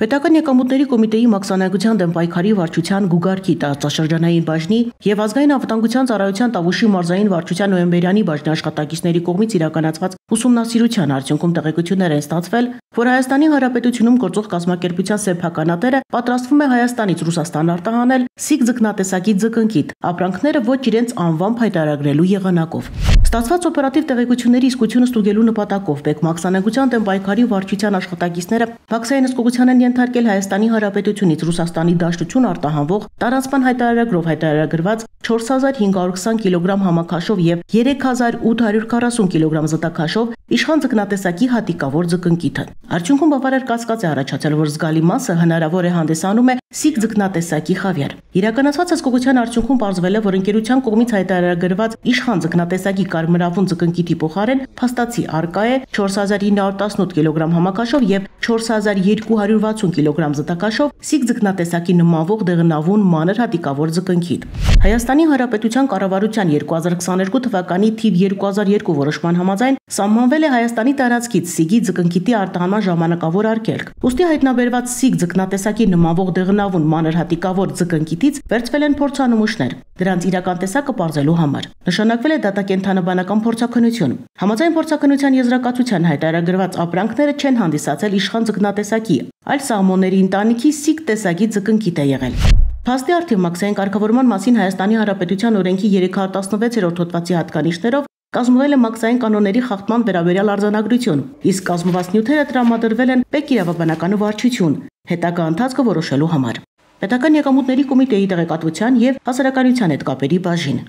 Պետական եկամուտների կոմիտեի մաքսանագության դեմ պայքարի վարչության Գուգարքի տարածաշրջանային բաժնի եւ ազգային անվտանգության ծառայության Տավուշի մարզային վարչության նոյեմբերյանի բաժնի աշխատակիցների կողմից իրականացված ուսումնասիրության արդյունքում տեղեկություններ են ստացվել, որ Հայաստանի Հանրապետությունում գործող կազմակերպության սեփականատերը պատրաստվում է Հայաստանից Ռուսաստան արտահանել սիկ ձկնատեսակի ձկնկիթ, ապրանքները ոչ իրենց անվամբ հայտարարելու եղանակով։ Ստացված օպերատիվ տեղեկությունների իսկությունը ստուգելու նպատակով Բեկ մաքսանագության դեմ պայքարի վարչության աշխատակիցները մաքսային հսկողության են ենթարկել Հայաստանի Հանրապետությունից Ռուսաստանի Դաշնություն արտահանվող տարածման հայտարարագրով հայտարարագրված 4520 կիլոգրամ համակաշով եւ 3840 կիլոգրամ զտաքաշով իշխան ձկնատեսակի հատիկավոր ձկնկիթը։ Արդյունքում բավարար կասկած է առաջացել, որ զգալի մասը հնարավոր է հանդիսանում է սիկ ձկնատեսակի խավիար։ Իրականացված հսկողության արդյունքում պարզվել է, որ ընկերության կողմից հայտարարագրված իշխան ձկնատեսակի կարմրավուն ձկնկիթի փոխարեն փաստացի արկա է 4918 կիլոգրամ համակաշով եւ 4260 կիլոգրամ զտաքաշով սիկ ձկնատեսակի նմանվող դեղնավուն մանր հատիկավոր ձկնկիթ։ Հայաստանի Հանրապետության կառավարության 2022 թվականի թիվ 2002 որոշման համաձայն սահմանվել է Հայաստանի տարածքից սիգի ձկնկիթի արտահանման ժամանակավոր արգելք։ Ուստի հայտնաբերված սիկ ձկնատեսակի նմանվող դեղնավուն մանր հատիկավոր ձկնկիթից վերցվել են փորձանմուշներ, դրանց իրական տեսակը պարզելու համար։ Նշանակվել է դատակենթանաբանական փորձաքննություն։ Համաձայն փորձաքննության եզրակացության հայտարարագրված ապրանքները չեն հանդիսացել իշխան ձկնատեսակի, այլ սաղմոնների ընտանիքի սիկ տեսակի ձկնկիթ է եղել։ Փաստի արդիվ մաքսային կարգավորման մասին Հայաստանի Հանրապետության օրենքի 316-րդ հոդվածի հատկանիշներով կազմվել է մաքսային կանոնների խախտման վերաբերյալ արձանագրություն, իսկ կազմված նյութերը տրամադրվել են Բեկ իրավաբանական վարչություն հետագա ընթացքը որոշելու համար։ Պետական եկամուտների կոմիտեի տեղեկատվության եւ հասարակայնության հետ կապերի բաժին։